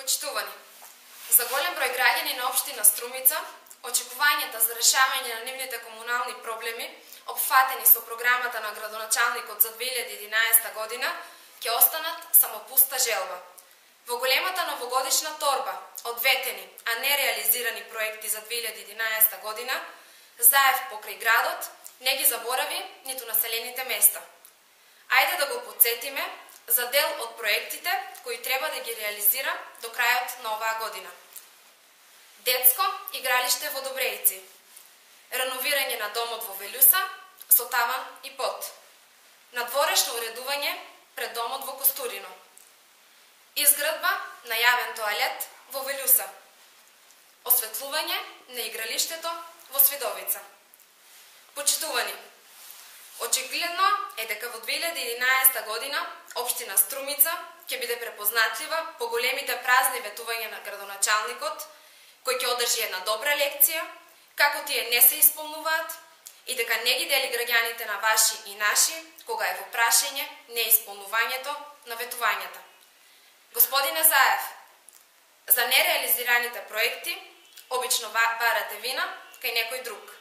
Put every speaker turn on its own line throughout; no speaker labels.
Почитувани, за голем број граѓани на општина Струмица, очекувањата за решавање на нивните комунални проблеми, опфатени со програмата на градоначалникот за 2011 година, ќе останат само пуста желба. Во големата новогодишна торба од ветени, а не реализирани проекти за 2011 година, Заев покрај градот не ги заборави ниту населените места. Ајде да го потсетиме за дел од проектите кои треба да ги реализира до крајот на оваа година. Детско игралиште во Добрејци, реновирање на домот во Велјуса со таван и под, надворешно уредување пред домот во Костурино, изградба на јавен тоалет во Велјуса, осветлување на игралиштето во Свидовица. Почитувани, очигледно е дека во 2011 година општина Струмица ќе биде препознатлива по големите празни ветувања на градоначалникот, кој ќе одржи една добра лекција, како тие не се исполнуваат и дека не ги дели граѓаните на ваши и наши, кога е во прашање неисполнувањето на ветувањата. Господине Заев, за нереализираните проекти, обично барате вина кај некој друг.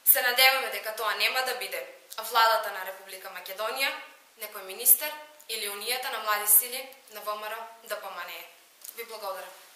Се надеваме дека тоа нема да биде владата на Република Македонија, некој министер или Унијата на млади сили на ВМРО ДПМНЕ. Ви благодарам.